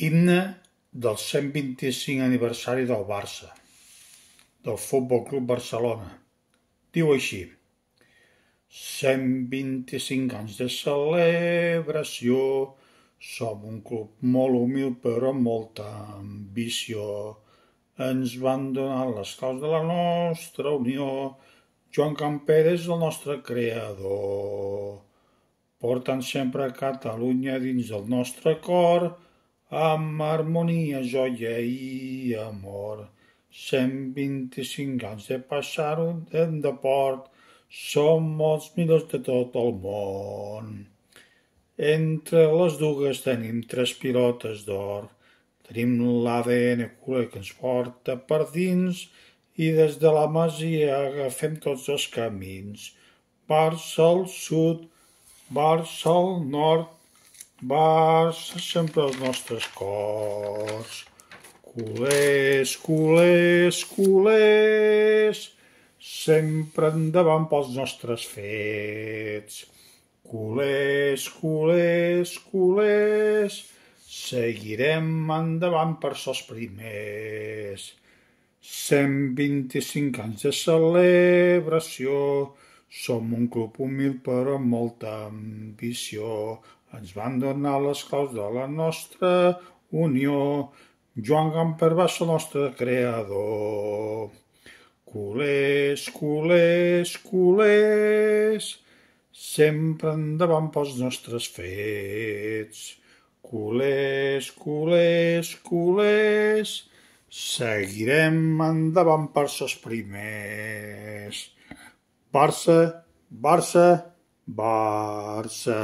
Himne del 125 aniversari del Barça, del Futbol Club Barcelona. Diu així: 125 anys de celebració, som un club molt humil però amb molta ambició. Ens van donar les claus de la nostra unió, Joan Gamper és el nostre creador. Portant sempre Catalunya dins del nostre cor, amb harmonia, joia i amor. 125 anys de passar-ho de port, som els millors de tot el món. Entre les dues tenim 3 pilotes d'or, tenim l'ADN culer que ens porta per dins i des de la Masia agafem tots els camins. Barça al sud, Barça al nord, Barça sempre als nostres cors. Culers, culers, culers, sempre endavant pels nostres fets. Culers, culers, culers, seguirem endavant per ser els primers. 125 anys de celebració, som un club humil però amb molta ambició. Ens van donar les claus de la nostra unió, Joan Gamper va ser el nostre creador. Culers, culers, culers, sempre endavant pels nostres fets. Culers, culers, culers, seguirem endavant per ser els primers. Barça, Barça, Barça.